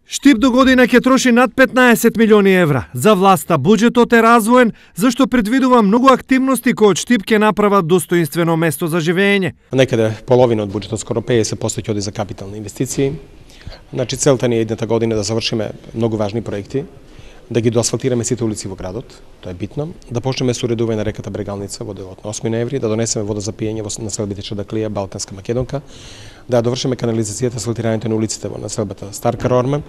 Штип до година ќе троши над 15 милиони евра. За власта буџетот е развоен, зашто предвидува многу активности кои од Штип ќе направат достоинствено место за живење. Некаде половина од буџетот, скоро 50% ќе оди за капитални инвестиции. Значи целта ни е едната година да завршиме многу важни проекти, да ги доасфалтираме сите улици во градот, тоа е битно, да почнеме со уредување на реката Брегалница во делот на 8 ноември, да донесеме вода за пиење во населбите Чадаклија, Балканска Македонка, да довршиме канализацијата, асфалтирањето на улиците во населбата Старка Рорма,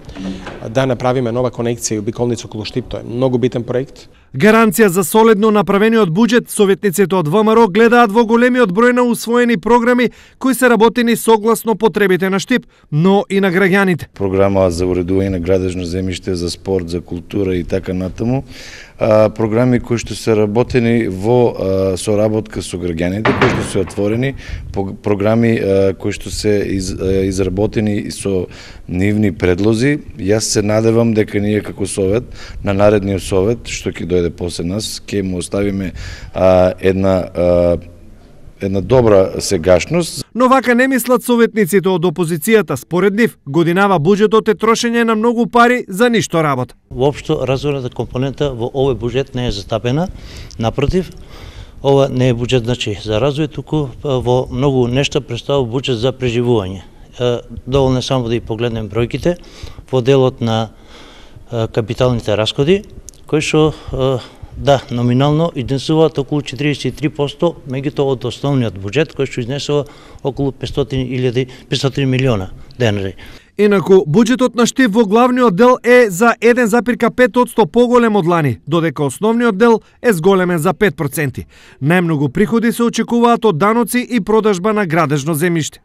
да направиме нова конекција и обиколница околу Штип, тоа е многу битен проект. Гаранција за солидно направениот буџет, советниците од ВМРО гледаат во големиот број на усвоени програми кои се работени согласно потребите на Штип, но и на граѓаните. Програма за уредување на градежно земјиште, за спорт, за култура и така натаму. Програми кои што се работени во соработка со граѓаните, кои што се отворени, програми кои што се изработени со нивни предлози. Јас се надевам дека ние како совет, на наредниот совет, што ќе дојде после нас, ќе му оставиме една добра сегашност. Но вака не мислат советниците од опозицијата. Според нив, годинава буџетот е трошење на многу пари за ништо работа. Воопшто развојната компонента во овој буџет не е застапена. Напротив, ова не е буџет за развој, туку во многу нешта представува буџет за преживување. Доволно е само да и погледнем бројките во делот на капиталните расходи, кои што да, номинално изнесуваат околу 43%, меѓутоа од основниот буџет кој што изнесува околу 500 милиона денари. Инаку, буџетот на Штип во главниот дел е за 1,5% поголем од лани, додека основниот дел е зголемен за 5%. Најмногу приходи се очекуваат од даноци и продажба на градежно земјиште.